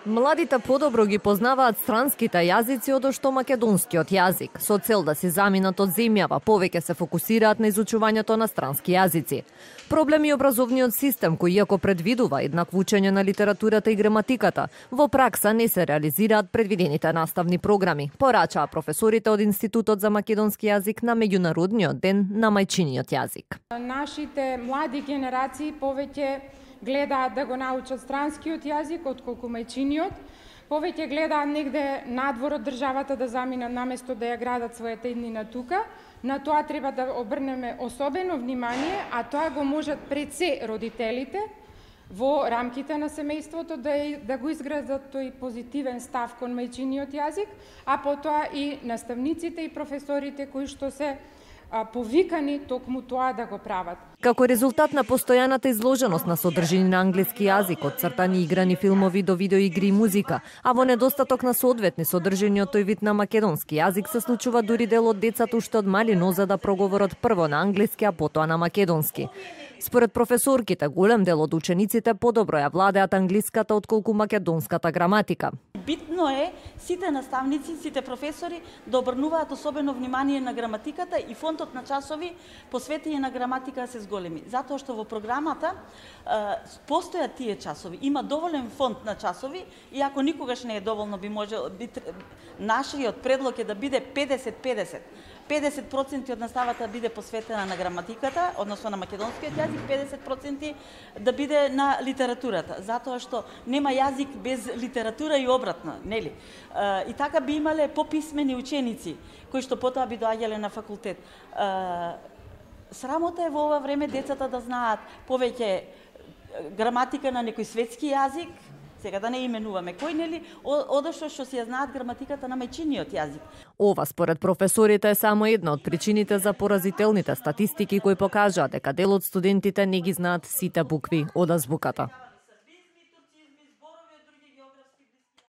Младите подобро ги познаваат странските јазици одошто македонскиот јазик. Со цел да се заминат од земјава, повеќе се фокусираат на изучувањето на странски јазици. Проблем е образовниот систем, кој иако предвидува еднакво учење на литературата и граматиката, во пракса не се реализираат предвидените наставни програми, порачаа професорите од Институтот за македонски јазик на меѓународниот ден на мајчиниот јазик. Нашите млади генерации повеќе гледаат да го научат странскиот јазик отколку мајчиниот, повеќе гледаат негде надвор од државата да заминат наместо да ја градат својата иднина тука. На тоа треба да обрнеме особено внимание, а тоа го можат пред се родителите во рамките на семејството да го изградат тој позитивен став кон мајчиниот јазик, а потоа и наставниците и професорите кои што се повикани токму тоа да го прават. Како резултат на постојаната изложеност на содржини на англиски јазик, од цртани играни филмови до видеоигри и музика, а во недостаток на соодветни содржини од тој вид на македонски јазик, се случува дури дел од децата уште од мали нозе да проговорат прво на англиски, а потоа на македонски. Според професорките, голем дел од учениците подобро ја владеат англиската отколку македонската граматика. Битно е сите наставници, сите професори да обрнуваат особено внимание на граматиката и фондот на часови посветени на граматика се зголеми. Затоа што во програмата постојат тие часови. Има доволен фонд на часови, иако никогаш не е доволно, нашиот предлог е да биде 50-50. 50% од наставата биде посветена на граматиката, односно на македонскиот јазик, 50% да биде на литературата, затоа што нема јазик без литература и обратно, нели? И така би имале пописмени ученици, кои што потоа би доаѓале на факултет. Срамота е во ова време децата да знаат повеќе граматика на некој светски јазик, сега да не именуваме кој, нели, одошто што си ја знаат граматиката на мајчиниот јазик. Ова според професорите е само една од причините за поразителните статистики кои покажаат дека дел од студентите не ги знаат сите букви од азбуката.